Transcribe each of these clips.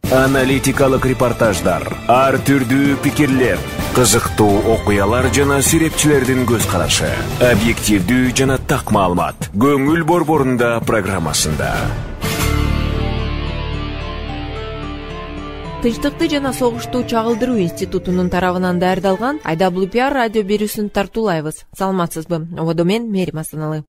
Аналитикалык репортаждар, ар түрдүү пикирлер, кызыктуу окуялар жана серепчилердин көз карашы, объективдүү жана так маалымат. Көңүл борборунда программасында. Тынчтыкты жана согушту чагылдыруу институтунун тарабынан даярдалган IWPR радио берүүсүн тартуулайбыз. Саламатсызбы? Ободо мен Мерим Асаналы.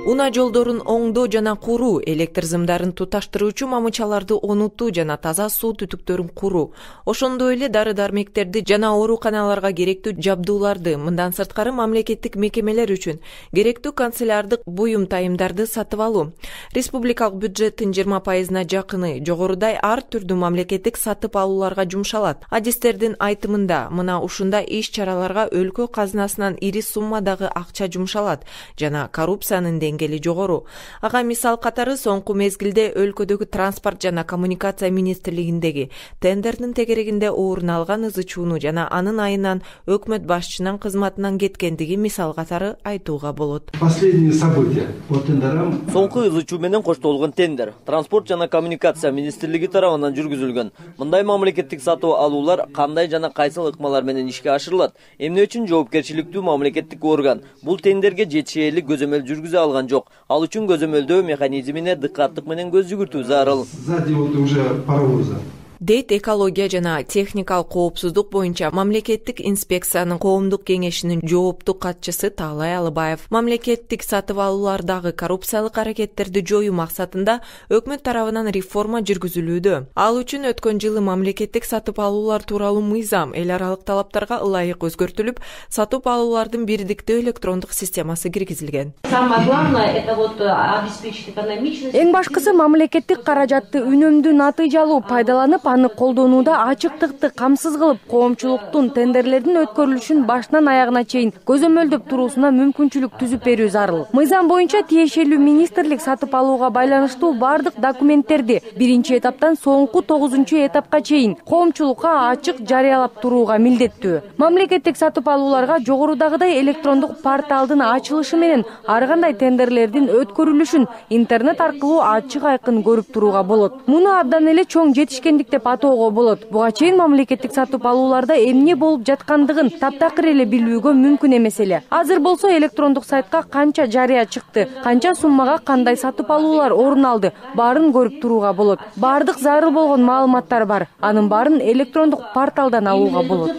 Унаа жолдорун оңдоо жана куруу, электр зымдарын туташтыруучу мамычаларды онутуу жана таза суу түтүктөрүн куруу, ошондой эле дары-дармектерди жана ооруканаларга керектүү жабдууларды, мындан сырткары мамлекеттик мекемелер үчүн керектүү канцелярдык буюм тайымдарды сатып алуу. Республикалык бюджеттин 20%-на жакыны жогорудай ар түрдүү мамлекеттик сатып алууларга жумшалат. Адистердин айтымында, мына ушундай иш-чараларга өлкө казынасынан ири суммадагы акча жумшалат жана коррупциянын деңгээли жогору. Ага мисал катары соңку мезгилде өлкөдөгү транспорт жана коммуникация министрлигиндеги тендердин тегерегинде орун алган ызы-чууну жана анын айынан өкмөт башчынын кызматынан кеткендиги мисал катары айтууга болот. Последние события по тендерам. Соңку ызы-чуу менен коштолгон тендер транспорт жана коммуникация министрлиги тарабынан жүргүзүлгөн. Мындай мамлекеттик сатып алуулар кандай жана кайсыл ыкмалар менен ишке ашырылат? Эмне үчүн жоопкерчиликтүү мамлекеттик орган бул тендерге жетишээрлик көзөмөл жүргүзө алган жок? Ал үчүн көзөмөлдөө механизмине дыкаттык менен көз жүгүртүү зарыл. Сзади вот уже паровоза. Дейт экология жана техникалык коопсуздук боюнча мамлекеттик инспекциянын коомдук кеңешинин жоопту катчысы Таалай Алыбаев. Мамлекеттик сатып алуулардагы коррупциялык аракеттерди жоюу максатында өкмөт тарабынан реформа жүргүзүлүүдө. Ал үчүн өткөн жылы мамлекеттик сатып алуулар тууралуу мыйзам эл аралык талаптарга ылайык өзгөртүлүп, сатып алуулардын бирдиктүү электрондук системасы киргизилген. Самое главное это вот обеспечить экономичность. Эң башкысы мамлекеттик каражатты үнөмдүү натыйжалуу пайдаланып, аны колдонууда ачыктыкты камсыз кылып, коомчулуктун тендерлердин өткөрүлүшүн башынан аягына чейин көзөмөлдөп туруусуна мүмкүнчүлүк түзүп берүү зарыл. Мыйзам боюнча тиешелүү министрлик сатып алууга байланыштуу бардык документтерди биринчи этаптан соңку 9-чу этапка чейин коомчулукка ачык жарыялап турууга милдеттүү. Мамлекеттик сатып алууларга жогорудагыдай электрондук порталдын ачылышы менен ар кандай тендерлердин өткөрүлүшүн интернет аркылуу ачык айкын көрүп турууга болот. Муну абдан эле чоң жетишкендик деп атоого болот. Буга чейин мамлекеттик сатып алууларда эмне болуп жаткандыгын таптакыр эле билүүгө мүмкүн эмес эле. Азыр болсо электрондук сайтка канча жарыя чыкты, канча суммага кандай сатып алуулар орун алды, баарын көрүп турууга болот. Бардык зарыл болгон маалыматтар бар. Анын баарын электрондук порталдан алууга болот.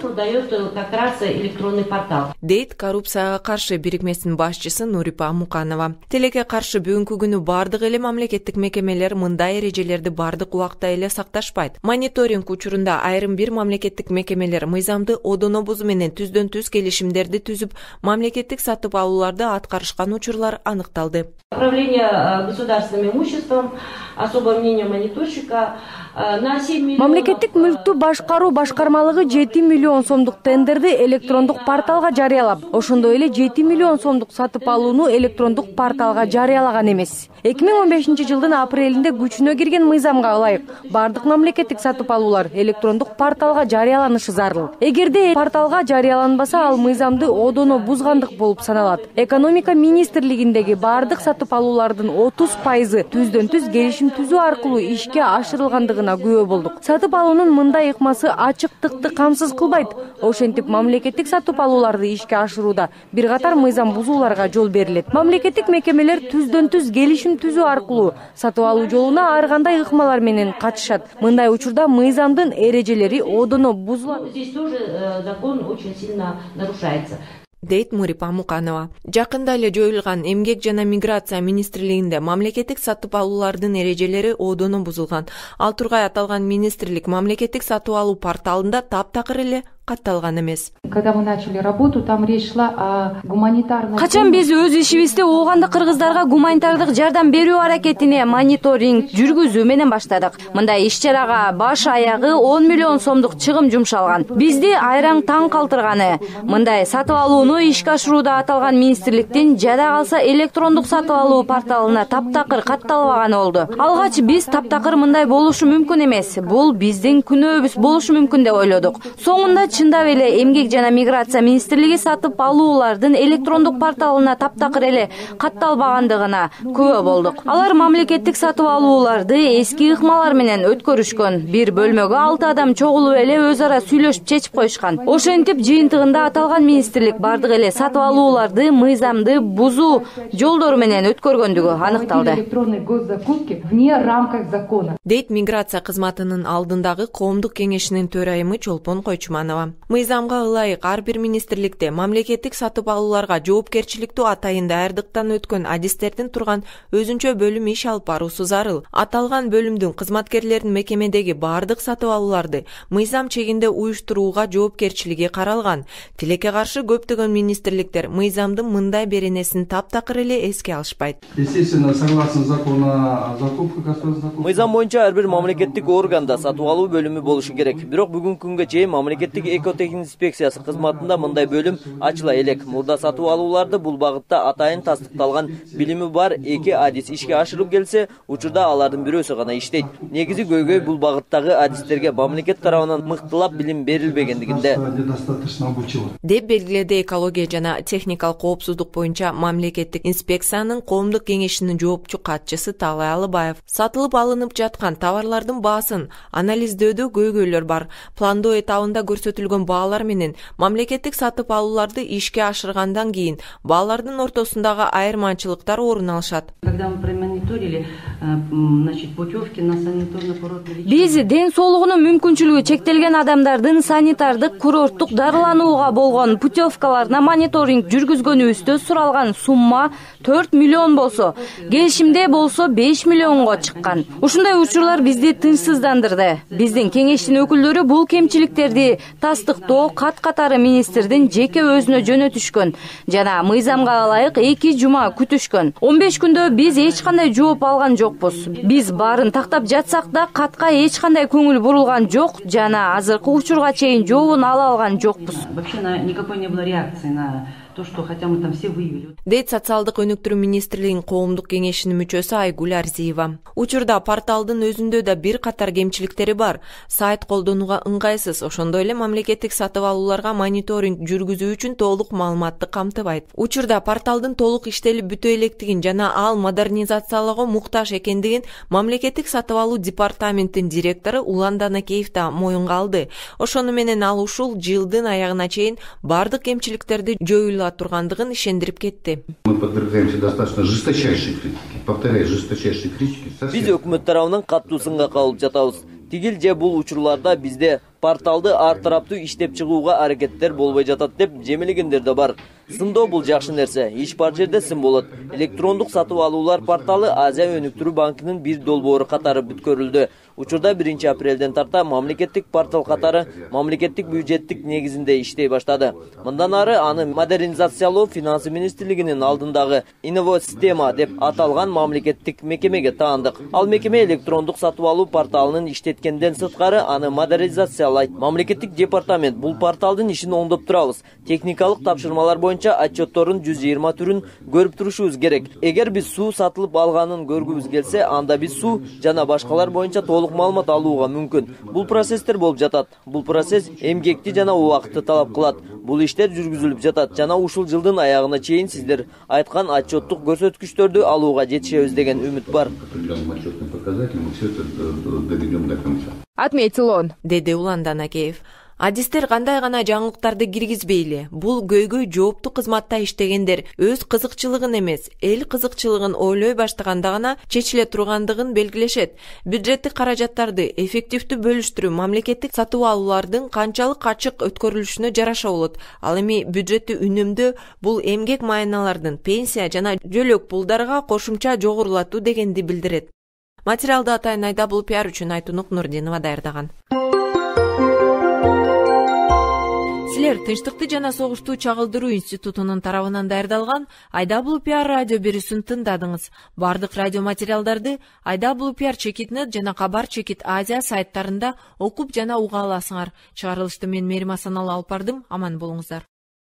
Дейт коррупцияга каршы бирикмесинин башчысы Нурипа Муканова. Телеке каршы бүгүнкү күнү бардык эле мамлекеттик мекемелер мындай эрежелерди бардык убакта эле сакташпайт. Мониторинг учурунда айрым бир мамлекеттик мекемелер мыйзамды одоно бузуу менен түздөн-түз келишимдерди түзүп, мамлекеттик сатып алууларды аткарышкан учурлар аныкталды. Управление государственным имуществом, особое мнение мониторщика. Мамлекеттик мүлктү башкаруу башкармалыгы 7 миллион сомдук тендерди электрондук порталга жарыялап, ошондой эле 7 миллион сомдук сатып алууну электрондук порталга жарыялаган эмес. 2015 жылдын апрелинде күчүнө кирген мыйзамга ылайык бардык мамлекеттик сатып алуулар электрондук порталга жарыяланышы зарыл. Эгерде порталга жарыяланбаса, ал мыйзамды одоно бузгандык болуп саналат. Экономика министрлигиндеги бардык сатып алуулардын 30% түздөн-түз келишим түзүү аркылуу ишке ашырылгандыгына күбө болдук. Сатып алуунун мындай ыкмасы ачыктыкты камсыз кылбайт. Ошентип мамлекеттик сатып алууларды ишке ашырууда бир катар мыйзам бузууларга жол берилет. Мамлекеттик мекемелер түздөн-түз келишим түзүү аркылуу сатып алуу жолуна ар кандай ыкмалар менен катышат. Мындай учурда мыйзамдын эрежелери одоно бузулат. Здесь тоже закон очень сильно нарушается. Дейт Нурипа Муканова. Жакында эле жоюлган Эмгек жана миграция министрлигинде мамлекеттик сатып алуулардын эрежелери одоно бузулган. Ал тургай аталган министрлик мамлекеттик сатып алуу порталында таптакыр эле катталган эмес. Когда мы начали работу, там речь шла о гуманитарной. Качан биз өз ишибизди оогандык кыргыздарга гуманитардык жардам берүү аракетине мониторинг жүргүзүү менен баштадык. Мындай иш-чарага баш аягы 10 миллион сомдук чыгым жумшалган. Бизди айраң таң калтырганы, мындай сатып алууну ишке ашырууда аталган министрликтин жада калса электрондук сатып алуу порталына таптакыр катталбаганы болду. Алгач биз таптакыр мындай болушу мүмкүн эмес, бул биздин күнөөбүз болушу мүмкүн деп ойлодук. Соңунда чындап эле Эмгек жана миграция министрлиги сатып алуулардын электрондук порталына таптакыр эле катталбагандыгына күбө болдук. Алар мамлекеттик сатып алууларды эски ыкмалар менен өткөрүшкөн. Бир бөлмөгө 6 адам чогулуп эле өз ара сүйлөшүп чечип коюшкан. Ошентип жыйынтыгында аталган министрлик бардык эле сатып алууларды мыйзамды бузуу жолдору менен өткөргөндүгү аныкталды. Дейт миграция кызматынын алдындагы коомдук кеңешинин төрайымы Чолпон Койчуманова. Мыйзамга ылайык ар бир министрликте мамлекеттик сатып алууларга жоопкерчиликтүү атайын даярдыктан өткөн адистердин турган өзүнчө бөлүм иш алып баруусу зарыл. Аталган бөлүмдүн кызматкерлеринин мекемедеги бардык сатып алууларды мыйзам чегинде уюштурууга жоопкерчилиги каралган. Тилекке каршы көптөгөн министрликтер мыйзамдын мындай беренесин таптакыр эле эске алышпайт. Естественно, согласно закону о закупках, государственных закупках. Мыйзам боюнча ар бир мамлекеттик органда сатып алуу бөлүмү болушу керек. Бирок бүгүнкү күнгө чейин мамлекеттик экотехник инспекциясы кызматында мындай бөлүм ачыла элек. Мурда сатып алууларды бул багытта атайын тастыкталган билими бар 2 адис ишке ашырып келсе, учурда алардын бирөөсү гана иштейт. Негизи көйгөй бул багыттагы адистерге мамлекет тарабынан мыктылап билим берилбегендигинде. Деп белгиледи экология жана техникалык коопсуздук боюнча мамлекеттик инспекциянын коомдук кеңешинин жоопчу катчысы Талай Алыбаев. Сатылып алынып жаткан товарлардын баасын анализдөөдө көйгөйлөр бар. Пландоо этабында көрсөтүлгөн баалар менен мамлекеттик сатып алууларды ишке ашыргандан кийин баалардын ортосундагы айырмачылыктар орун алышат. Биз ден соолугунун мүмкүнчүлүгү чектелген адамдардын санитардык курорттук дарыланууга болгон путевкаларына мониторинг жүргүзгөнүбүздө суралган сумма 4 миллион болсо, келишимде болсо 5 миллионго чыккан. Ушундай учурлар бизди тынчсыздандырды. Биздин кеңештин өкүлдөрү бул кемчиликтерди тастыктоо кат-катары министрдин жеке өзүнө жөнөтүшкөн жана мыйзамга ылайык 2 жума күтүшкөн. 15 күндө биз эч кандай жооп алган жокпуз. Биз баарын тактап жатсак да катка эч кандай көңүл бурулган жок жана азыркы учурга чейин жообун ала алган жокпуз. Вообще никакой не было реакции на то, что хотя мы там все выявили. Дейт социалдык өнүктүрүү министрлигинин коомдук кеңешинин мүчөсү Айгүл Арзиева. Учурда порталдын өзүндө да бир катар кемчиликтери бар. Сайт колдонууга ыңгайсыз, ошондой эле мамлекеттик сатып алууларга мониторинг жүргүзүү үчүн толук маалыматты камтыбайт. Учурда порталдын толук иштелип бүтө электигин жана ал модернизациялоого муктаж экендигин мамлекеттик сатып алуу департаментинин директору Улан Данакеев да моюнга алды. Ошону менен ал ушул жылдын аягына чейин бардык кемчиликтерди жоюла тургандыгын ишендирип кетти. Мы подвергаемся достаточно жесточайшей критике. Повторяю, жесточайшей критике. Биз өкмөт тарабынан каттуу сынга кабылып жатабыз. Тигил же бул учурларда бизде порталды ар тараптуу иштеп чыгууга аракеттер болбой жатат деп жемелегендер да бар. Сындоо бул жакшы нерсе. Иш бар жерде сын болот. Электрондук сатып алуулар порталы Азия өнүктүрүү банкынын бир долбоору катары бүткөрүлдү. Учурда 1 апрелден тарта мамлекеттик портал катары мамлекеттик бюджеттик негизинде иштей баштады. Мындан ары аны модернизациялоо финансы министрлигинин алдындагы Инновосистема деп аталган мамлекеттик мекемеге таандык. Ал мекеме электрондук сатып алуу порталынын иштеткенден сырткары аны модернизациялайт. Мамлекеттик департамент бул порталдын ишин оңдоп турабыз. Техникалык тапшырмалар боюнча отчеттордун 120 түрүн көрүп турушубуз керек. Эгер биз суу сатылып алганын көргүбүз келсе, анда биз суу жана башкалар боюнча толук маалымат алууга мүмкүн. Бул процесстер болуп жатат. Бул процесс эмгекти жана убакытты талап кылат. Бул иштер жүргүзүлүп жатат жана ушул жылдын аягына чейин сиздер айткан отчеттук көрсөткүчтөрдү алууга жетишебиз деген үмүт бар. Отметил, деди Улан Данакеев. Адистер кандай гана жаңылыктарды киргизбейли, бул көйгөй жооптуу кызматта иштегендер өз кызыкчылыгын эмес, эл кызыкчылыгын ойлой баштаганда гана чечиле тургандыгын белгилешет. Бюджеттик каражаттарды эффективдүү бөлүштүрүү мамлекеттик сатып алуулардын канчалык ачык өткөрүлүшүнө жараша болот. Ал эми бюджетти үнөмдөө бул эмгек майыналардын пенсия жана жөлөк пулдарга кошумча жогорулатуу дегенди билдирет. Материалды атайын Айдабул пиар үчүн Айтунук Нурдинова даярдаган. Силер Тынчтыкты жана согушту чагылдыруу институтунун тарабынан даярдалган Айдабул пиар радио берүүсүн тыңдадыңыз. Бардык радио материалдарды Айдабул пиар чекит.нет жана Кабар чекит Азия сайттарында окуп жана уга аласыңар. Чыгарылышты мен Мерим Асаналы алып бардым. Аман болуңуздар.